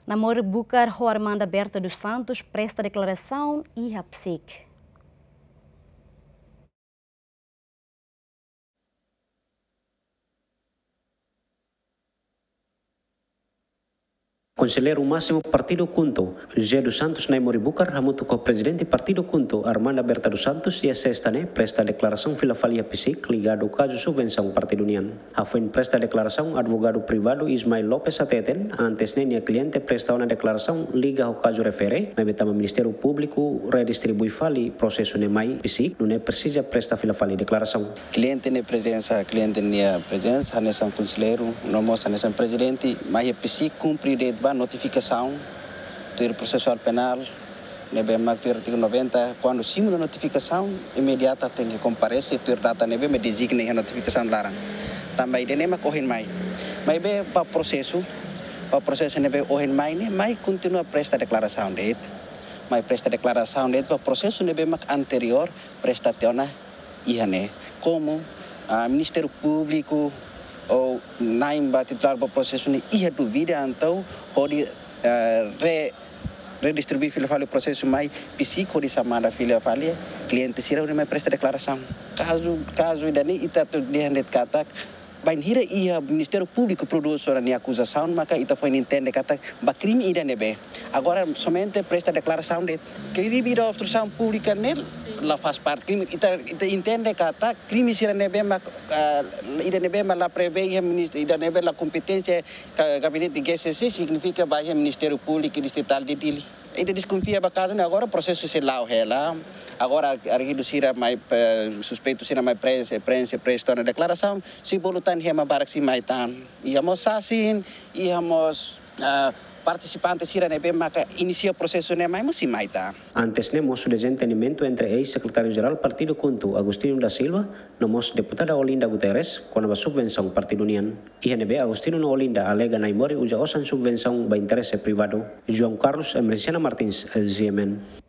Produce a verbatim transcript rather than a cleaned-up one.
Naimori Bucar ho Armanda Berta dos Santos presta deklarasaun iha PCIC. Konselleiru Másimu Partidu KHUNTO, José dos Santos Naimori Bucar, hamutuk ho Prezidente Partidu KHUNTO, Armanda Berta dos Santos, iha Sesta ne'e presta deklarasaun fila fali iha PCIC ligadu kazu subvensaun partidu nian. Hafoin presta deklarasaun, advogadu privadu Ismael Lopes hateten, antes ne'e nia kliente presta ona deklarasaun liga ho kazu refere, maibé tanba Ministériu Públiku redistribui fali prosesu ne'e mai PCIC, nune'e presiza presta fila fali deklarasaun. Kliente nia prezensa, kliente nia prezensa, hanesan konselleiru, no mós hanesan prezidente, mai iha PCIC kumpre de'it ba notifikasaun, tuir prosesuál penál, ne'ebé mak tuir artigu noventa, kuandu simu ona notifikasaun, imediata tenke komparese tuir data ne'ebé mak dezigna iha notifikasaun laran. Tanba ida-ne'e mak ohin mai. Maibé ba prosesu, ba prosesu ne'ebé ohin mai ne'e, mai kontinua presta deklarasaun de'it. Mai presta deklarasaun de'it ba prosesu ne'ebé mak anteriór presta tiha ona iha ne'e. Komu, ah, Ministériu Públiku ou na'in ba titulár ba prosesu ne'e iha dúvida, entaun hodi, ah, re-, redistribui fila fali prosesu mai PCIC hodi xamada fila fali kliente sira hodi mai presta deklarasaun. Kazu, kazu ida-ne'e ita atu dehan de'it katak, bainhira iha Ministériu Públiku prodús ona nia akuzasaun, maka ita foin entende katak ba krime ida ne'ebé. Agora somente presta deklarasaun de'it. Krime ida obstrusaun públika ne'e la faz parte krime. Ita, ita entende katak krime sira ne'ebé mak, ah, ida ne'ebé mak la prevee iha minis-, ida ne'ebé la kompeténsia ka gabinete GCC, signifika ba iha Ministériu Públiku Distritál de Dili. Ita deskonfia ba kazu ne'e, agora prosesu sei la'o hela. Agora arguidu sira mai, eh, suspeitu sira mai prenxe, prenxe, presta ona deklarasaun, sei bolu tan ema barak sei mai tan. Iha mós sasin, iha mós, ah, partisipante sira ne'ebé maka inisia prosesu ne'e mai mós sei mai tan. Antes ne'e mós dezentendimentu entre eis-sekretáriu-jerál Partidu KHUNTO, Agostinho da Silva, no mós deputada Olinda Guterres, kona-ba subvensaun partidu nian. Iha ne'ebé Agostinho no Olinda alega Naimori uza osan subvensaun ba interese privadu. João Carlos Emerenciana Martins, GMN.